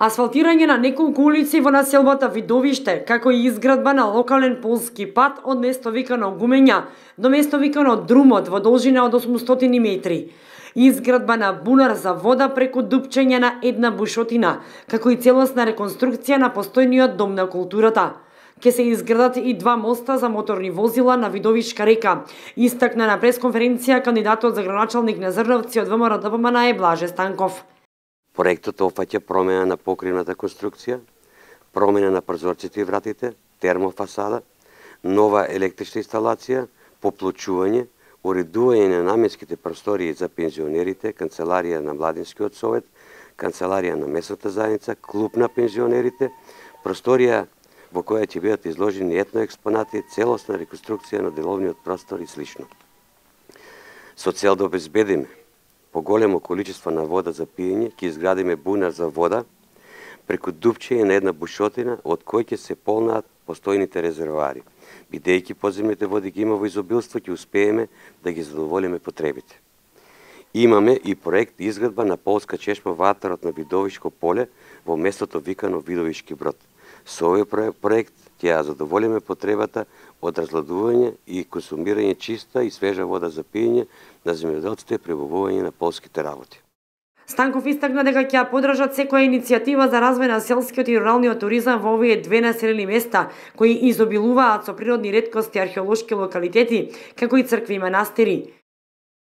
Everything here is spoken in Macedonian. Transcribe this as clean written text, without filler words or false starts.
Асфалтирање на неколку улици во населбата Видовиште, како и изградба на локален полски пат од место викано Гумења до место викано Друмот во должина од 800 метри. Изградба на бунар за вода преку дупчење на една бушотина, како и целосна реконструкција на постојниот дом на културата. Ке се изградат и два моста за моторни возила на Видовишка река, истакна на пресконференција кандидатот за градоначалник на Зрновци од ВМРО-ДПМН Блаже Станков. Проектот опфаќа промена на покривната конструкција, промена на прозорците и вратите, термофасада, нова електрична инсталација, поплочување, уредување на наменските простории за пензионерите, канцеларија на Младинскиот совет, канцеларија на местната заедница, клуб на пензионерите, просторија во која ќе бидат изложени етноекспонати, целосна реконструкција на деловниот простор и слично. Со цел да обезбедиме поголемо количество на вода за пиење, ќе изградиме бунар за вода преку дупчење на една бушотина од кој ќе се полнат постојните резервоари. Бидејќи подземните води ги има во изобилство, ќе успееме да ги задоволиме потребите. Имаме и проект изградба на полска чешма во атарот на Видовишко поле во местото викано Видовишки брод. Со овој проект ќе ја задоволиме потребата од разладување и консумирање чиста и свежа вода за пиење на земјоделците и пребавување на полските работи. Станков истакна дека ќе ја поддржат секоја иницијатива за развој на селскиот и руралниот туризам во овие две населени места, кои изобилуваат со природни реткости и археолошки локалитети, како и цркви и манастири.